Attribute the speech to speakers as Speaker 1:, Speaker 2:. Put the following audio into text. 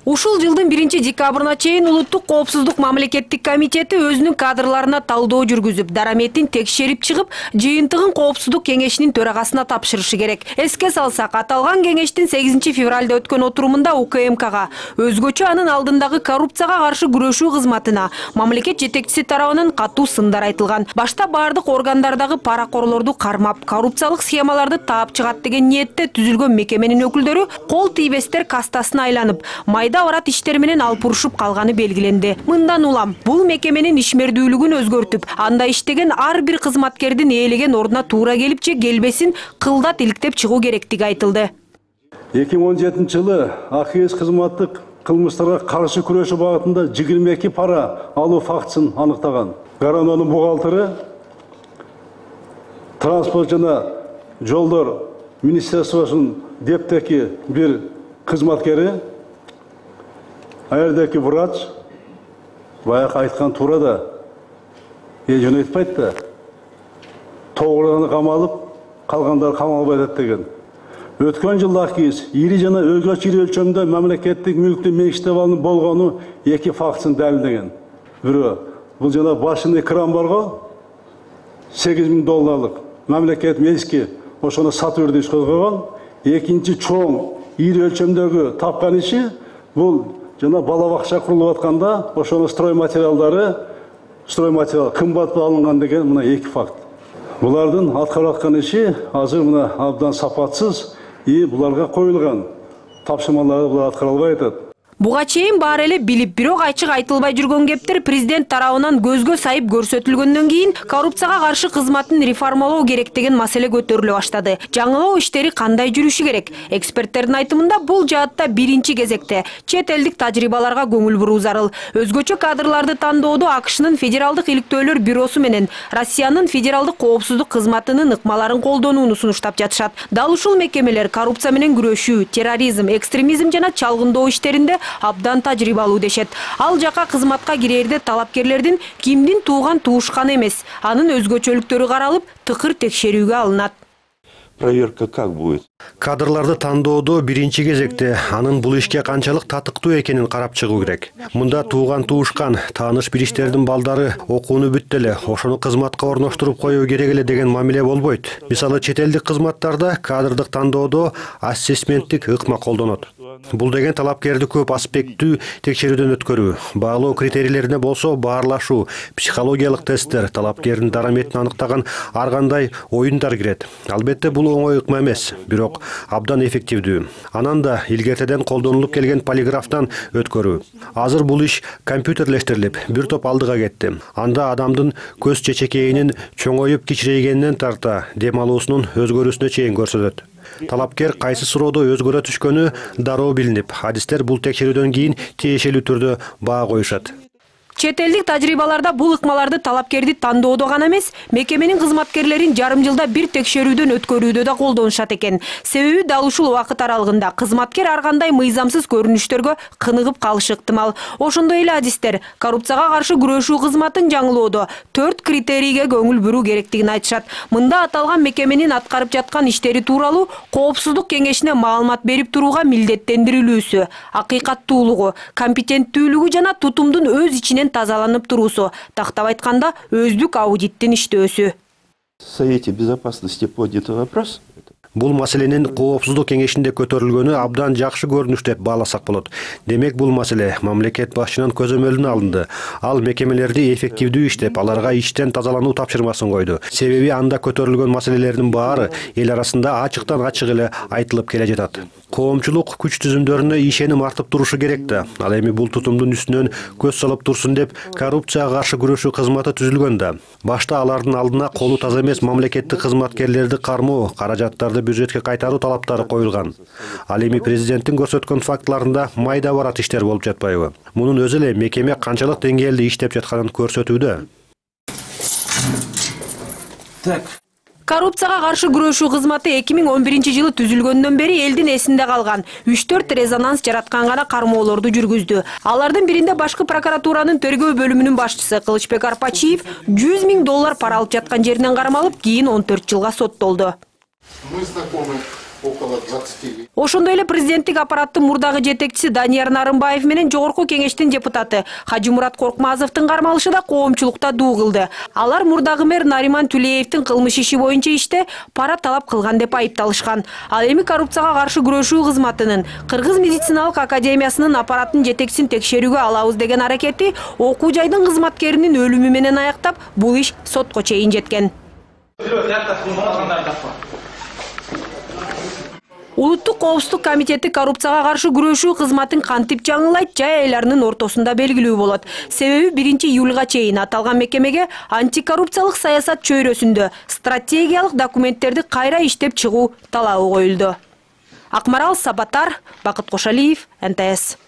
Speaker 1: Ушул жылдын 1-декабрына чейин Улуттук коопсуздук мамлекеттик комитети өзүнүн кадрларына талдоо жүргүзүп, дараметин текшерип чыгып, жыйынтыгын коопсуздук кеңешинин төрагасына тапшырышы керек. Эске салсак, аталган кеңештин 8 февралда өткөн отурумунда УКМКга өзгөчө анын алдындагы коррупцияга каршы күрөшүү кызматына мамлекет жетекчиси тарабынан катуу сындар айтылган. Башта бардык органдардагы паракорлорду кармап, коррупциялык схемаларды таап чыгат деген ниетте түзүлгөн мекеменин өкүлдөрү кол тийбестер кастасына айланып, майда барат иштер менен алпурушуп калганы белгиленди. Мындан улам бул мекеменин ишмердүүлүгүн өзгөртүп, анда иштеген ар бир кызматкердин ээлеген ордуна туура келип же келбесин кылдат иликтеп чыгуу керектиги айтылды.
Speaker 2: 2017 жылы АКС кызматтык кылмыштарга каршы күрөшүү багытында 22 пара алуу фактысын аныктаган. Гаранонун бухгалтери, транспорт жана жолдор министерствосунун дептеки бир кызматкери, аердеки врач, баягы айткан туура да, жөн айтпайт да. Тогураны камалып, калгандары камалбай атат деген. Өткөн жылы АКС ири жана өзгөчө ири өлчөмдө мамлекеттик мүлктү менчиктеп алынып болгону 2 фактысын далилдеген. Бирөө, бул жана башында кран барго $8,000 мамлекет мелиске ошону сатып берди иш козгогон. Экинчи чоң ири өлчөмдөгү тапкан иши бул жана бала бакча курулуп атканда ошону стройматериал кымбат алынган деген мына 2 факт. Булардын аткарып аткан иши азыр мына абдан сапатсыз, буларга коюлган тапшырмаларды булар аткара албай атат.
Speaker 1: Буга чейин баары эле билип, бирок ачык айтылбай жүргөн кептер президент тарабынан көзгө сайып көрсөтүлгөндөн кийин коррупцияга каршы кызматын реформалоо керек деген маселе көтөрүлө баштады. Жаңылоо иштери кандай жүрүшү керек? Эксперттердин айтымында бул жаатта биринчи кезекте чет элдик тажрыйбаларга көңүл буруу зарыл. Өзгөчө кадрларды тандоодо АКШнын федералдык иликтөөлөр бюросу менен Россиянын федералдык коопсуздук кызматынын ыкмаларын колдонууну сунуштап жатышат. Дал ушул мекемелер коррупция менен күрөшүү, терроризм, экстремизм жана чалгындоо иштеринде абдан тажрыйбалуу дешет. Ал жака кызматка кирээрде талапкерлердин кимдин тууган туушканы эмес, анын өзгөчөлүктөрү каралып, тыкыр текшерүүгө алынат.
Speaker 3: Проверка как будет?
Speaker 4: Кадрларды тандоодо биринчи кезекте анын бул ишке канчалык татыктуу экенин карап чыгуу керек. Мында тууган туушкан, тааныш билиштердин балдары окууну бүттү эле, ошону кызматка орноштуруп коюу керек эле деген мамиле болбойт. Мисалы, чет элдик кызматтарда кадрдык тандоодо ассессменттик ыкма колдонот. Бул деген талапкерди көп аспекттүү текшерүүдөн өткөрүү, баалоо критерийлерине болсо баарлашуу, психологиялык тесттер, талапкердин дараметин аныктаган ар кандай оюндар кирет. Албетте бул оңой ыкма эмес, бирок абдан эффективдүү. Анан да илгертеден колдонулуп келген полиграфтан өткөрүү. Азыр бул иш компьютерлештирилип, бир топ алдыга кетти. Анда адамдын көз чечекейинин чоңоюп кичирейгенинен тарта дем алуусунун өзгөрүүсүнө чейин көрсөтөт. Талапкер кайсы суроодо өзгөрө түшкөнү дароо билинип, адистер бул текшерүүдөн кийин тиешелүү түрдө баа коюшат.
Speaker 1: Чет элдик тажрыйбаларда бул ыкмаларды талапкерди тандоодо гана эмес, мекеменин кызматкерлерин жарым жылда бир текшерүүдөн өткөрүүдө да колдонушат экен. Себеби дал ушул убакыт аралыгында кызматкер ар кандай мыйзамсыз көрүнүштөргө кыныгып калышы ыктымал. Ошондой эле адистер коррупцияга каршы күрөшүү кызматын жаңылоодо 4 критерийге көңүл буруу керектигин айтышат. Мында аталган мекеменин аткарып жаткан иштери тууралуу коопсуздук кеңешине маалымат берип турууга милдеттендирилүүсү, акыйкаттуулугу, компетенттүүлүгү жана тутумдун өз ичинен тазаланып туруусу, тактап айтканда өздүк аудиттин иштөөсү.
Speaker 3: В Совете безопасности поднят вопрос.
Speaker 4: Бул маселенин коопсуздук кеңешинде көтөрүлгөнү абдан жакшы көрүнүш деп бааласак болот. Демек бул маселе мамлекет башчынын көзөмөлүнө алынды. Ал мекемелерди эффективдүү иштеп, аларга иштен тазалануу тапшырмасын койду. Себеби анда көтөрүлгөн маселелердин баары эл арасында ачыктан ачык эле айтылып келе жатат. Коомчулук күч түзүмдөрүнө ишеним артып турушу керек да. Ал эми бул тутумдун үстүнөн көз салып турсун деп коррупцияга каршы күрөшүү кызматы түзүлгөн да. Башта алардын алдына колу таза эмес мамлекеттик кызматкерлерди кармоо, каражаттарды бюджетке кайтаруу талаптары коюлган. Ал эми президенттин көрсөткөн фактыларында майда барат иштер болуп жатпайбы? Мунун өзү эле мекеме канчалык деңгээлде иштеп жатканын көрсөтүүдө.
Speaker 1: Коррупцияга каршы күрөшүү кызматы 2011 жылы түзүлгөндөн бери элдин эсинде калган 3-4 резонанс жараткан гана кармоолорду жүргүздү. Алардын биринде башкы прокуратуранын тергөө бөлүмүнүн башчысы Кылычбек Арпачиев $100,000 пара алып жаткан жеринен кармалып, кийин 14 жылга соттолду.
Speaker 5: Мы знакомы около 20.
Speaker 1: Ошондой эле президенттик аппараттын мурдагы жетекчиси Данияр Нарымбаев менен жогорку кеңештин депутаты Хажимурат Коркмазовдун кармалышы да коомчулукта дуу кылды. Алар мурдагы мэр Нариман Тулеевдин кылмыш иши боюнча иште пара талап кылган деп айыпталышкан. Ал эми коррупцияга каршы күрөшүү кызматынын Кыргыз медициналык академиясынын аппараттын жетекчисин текшерүүгө алабыз деген аракети окуу жайдын кызматкеринин өлүмү менен аяктап, бул иш сотко чейин жеткен. Улуттук коопсуздук комитети коррупцияга каршы күрөшүү кызматын кантип жаңылайт, жай айларынын ортосунда белгилүү болот. Себеби 1-июлга чейин аталган мекемеге антикоррупциялык саясат чөйрөсүндө стратегиялык документтерди кайра иштеп чыгуу талабы коюлду. Акмарал Сабатар, Бакыт Кошалиев, НТС.